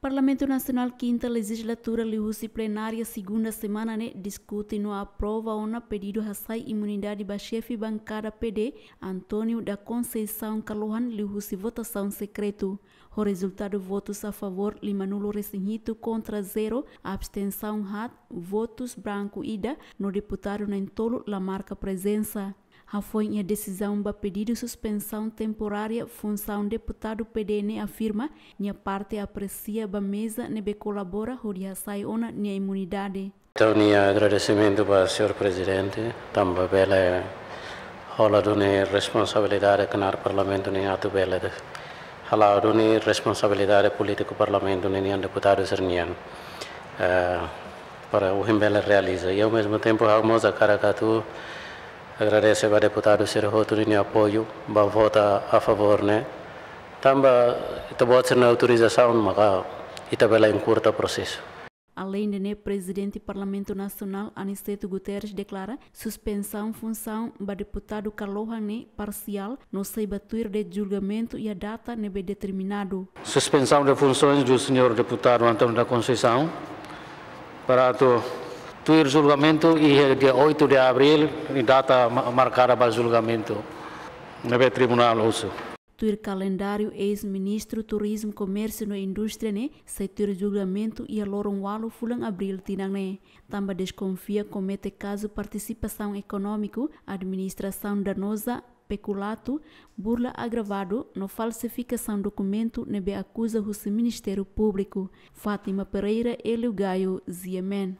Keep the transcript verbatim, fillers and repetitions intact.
Parlamentu Nasionál kinta lejizlatura liuhusi plenária segunda semana ne'e diskute no aprova ona pedidu hasai imunidade ba xefe bankada P D, António da Conceição Kalohan, liuhusi votasaun sekretu. Ho rezultadu votus a favór lima nulu resin hitu, kontra zero, abstensaun haat, votus branku ida, no deputadu na'in-tolu la marka prezensa. Hafoin iha desizaun ba pedidu suspensaun temporária funsaun deputadu P D ne'e afirma nia parte apresia ba meza ne'ebé kolabora hodi hasai ona nia imunidade. Entaun, nia agradesimentu ba señór Prezidente, tanba bele hola duni responsabilidade knaar Parlamentu nian atu bele hala'o duni responsabilidade polítiku Parlamentu nian, deputadu sira-nian, eh, para ohin bele realiza. I ao mesmo tempo, ha'u mós hakarak atu agradese ba deputadu sira hotu ninia apoiu ba vota a favór ne'e. Tanba ita-boot sira-nia autorizasaun maka ita bele enkuraja prosesu. Aleinde ne'e, Prezidente Parlamentu Nasionál Aniceto Guterres deklara suspensaun funsaun ba deputadu Kalohan ne'e parsiál no sei ba tuir de'it julgamentu iha data ne'ebé determinadu. Suspensão de funções do senhor deputado António da Conceição para atu tuir julgamentu iha dia oito de abril, data ma-, markada ba julgamentu ne'ebé tribunál husu. Tuir kalendáriu, eis-ministru Turizmu, Komérsiu no Indústria ne'e sei tuir julgamentu iha loron ualu fulan Abríl tinan ne'e. Tanba deskonfia komete kazu partisipasaun ekonómiku, administrasaun danoza, pekulatu, burla agravadu no falsifikasaun dokumentu ne'ebé akuza husi Ministériu Públiku. Fátima Pereira, Hélio Gaio, G M N.